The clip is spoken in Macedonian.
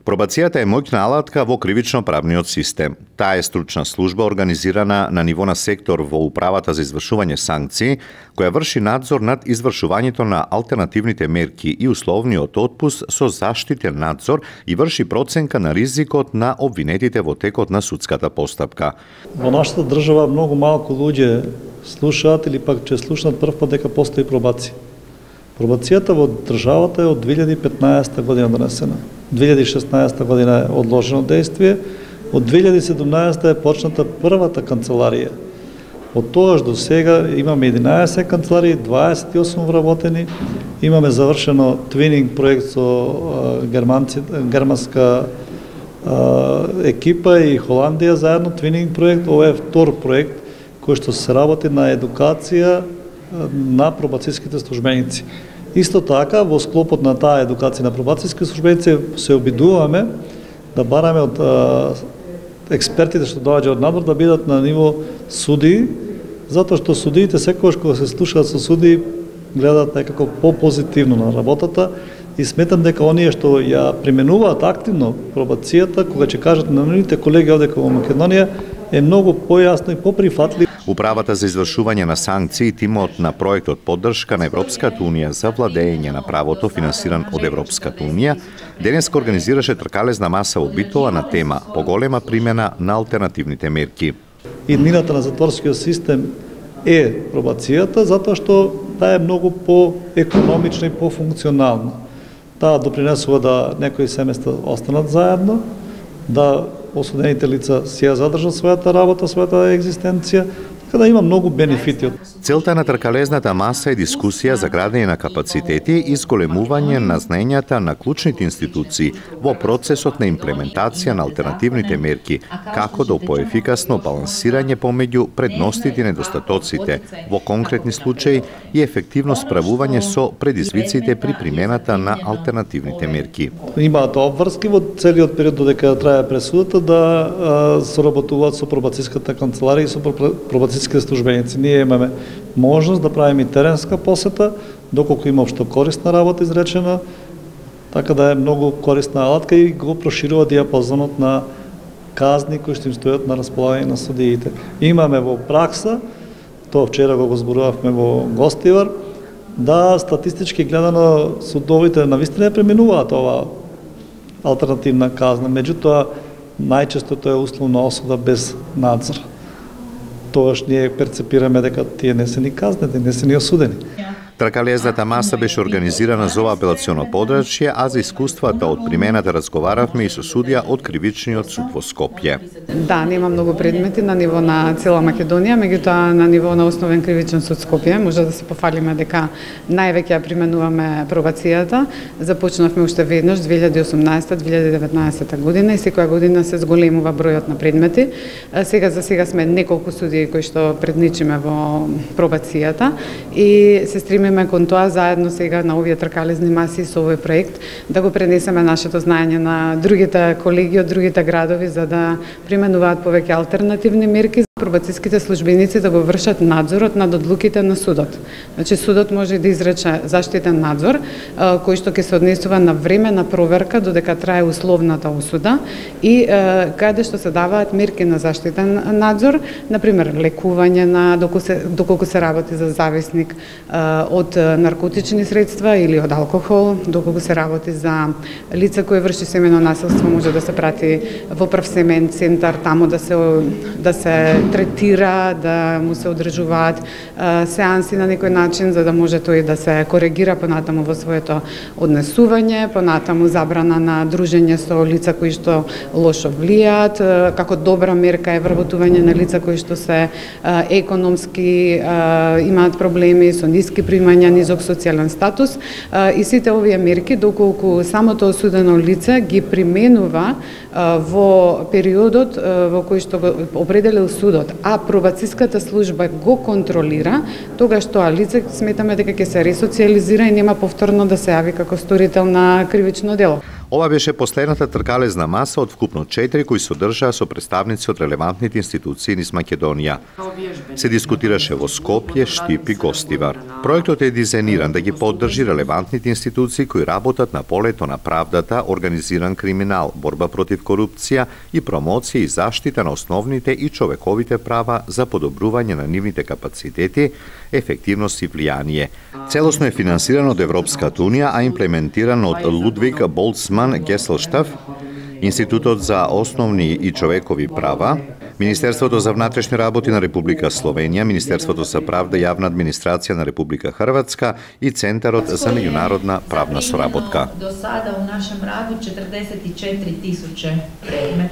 Пробацијата е моќна алатка во кривично-правниот систем. Таа е стручна служба организирана на ниво на сектор во Управата за извршување санкции, која врши надзор над извршувањето на алтернативните мерки и условниот отпуст со заштитен надзор и врши проценка на ризикот на обвинетите во текот на судската постапка. Во нашата држава многу малку луѓе слушаат или пак че слушнат прв пат дека постои пробација. Пробацијата во државата е од 2015 година донесена. 2016 година е одложено действие, од 2017 е почната првата канцеларија. Од тогаш до сега имаме 11 канцеларии, 28 вработени, имаме завршено твининг проект со германска екипа и Холандија заедно твининг проект. Ова е втор проект кој што се работи на едукација на пробацијските службеници. Исто така, во склопот на таа едукација на пробацијски службеници се обидуваме да бараме од експертите што доаѓаат од надвор да бидат на ниво судии, затоа што судиите секогаш кога се слушаат со судии гледаат некако по-позитивно на работата и сметам дека оние што ја применуваат активно пробацијата, кога ќе кажат на нивните колеги овде во Македонија, е многу појасно и поприфатлив. Управата за извршување на санкции, тимот на проектот поддршка на Европската унија за владење на правото финансиран од Европската унија, денеска организираше тркалезна маса во Битола на тема поголема примена на алтернативните мерки. Иднината на затворскиот систем е пробацијата, затоа што таа е многу по-економична и по-функционална. Таа допринесува да некои семејства останат заедно, да осудените лица си ја задржат својата работа, својата екзистенција, така да има многу бенефити. Целта на тркалезната маса е дискусија за градење на капацитети и зголемување на знаењата на клучните институции во процесот на имплементација на алтернативните мерки, како да поефикасно балансирање помеѓу предностите и недостатоците во конкретни случаи и ефективно справување со предизвиците при примената на алтернативните мерки. Имаат обврски во целиот период додека трае пресудата да соработуваат со пробацијската канцеларија и со пробацијските службеници. Ние имаме можност да правиме теренска посета, доколку има општо корисна работа изречена, така да е многу корисна алатка и го проширува диапазонот на казни кои што им стојат на располагање на судиите. Имаме во пракса, тоа вчера го зборувавме во Гостивар, да статистички гледано судовите навистина пременуваат ова алтернативна казна, меѓутоа најчестото е условна осуда без надзор. Тогаш ние перцепираме дека тие не се ни казнети, не се ни осудени. Тркалезната маса беше организирана за ова апелационо подрачје, а за искуствата од примената разговаравме и со судија од Кривичниот суд во Скопје. Да, нема многу предмети на ниво на цела Македонија, меѓутоа на ниво на основен Кривичен суд Скопје може да се пофалиме дека највеќе ја применуваме пробацијата. Започнавме уште веднаш 2018-2019 година и секоја година се зголемува бројот на предмети. За сега сме неколку судии кои што предничиме во пробацијата и се стремиме кон тоа заедно сега на овие тркалезни маси со овој проект да го пренесеме нашето знаење на другите колеги од другите градови за да применуваат повеќе алтернативни мерки. Пробацијските службеници да го вршат надзорот над одлуките на судот. Значи судот може да изрече заштитен надзор кој што ќе се однесува на време на проверка додека трае условната осуда и каде што се даваат мерки на заштитен надзор, например лекување на доколку се работи за зависник од наркотични средства или од алкохол, доколку се работи за лице кое врши семејно насилство, може да се прати во прв семеен центар, таму да се третира, да му се одржуваат сеанси на некој начин за да може тој да се коригира понатаму во своето однесување, понатаму забрана на дружење со лица кои што лошо влијаат, како добра мерка е вработување на лица кои што се економски имаат проблеми со ниски примања, низок социјален статус и сите овие мерки доколку самото осудено лице ги применува во периодот во кој што го определил судот, а пробацијската служба го контролира, тогаш тоа лице сметаме дека ќе се ресоциализира и нема повторно да се јави како сторител на кривично дело. Ова беше последната тркалезна маса од вкупно 4 кои се одржаа со представници од релевантните институции низ Македонија. Се дискутираше во Скопје, Штип и Гостивар. Проектот е дизајниран да ги поддржи релевантните институции кои работат на полето на правдата, организиран криминал, борба против корупција и промоција и заштита на основните и човековите права за подобрување на нивните капацитети, ефективност и влијание. Целосно е финансиран од Европската унија, а имплементиран од Лудвиг Болцман Геселштаф, Институтот за основни и човекови права, Министерството за внатрешни работи на Република Словенија, Министерството за правда и јавна администрација на Република Хрватска и Центарот за меѓународна правна соработка. До сада у нашем раду 44.000 предмета.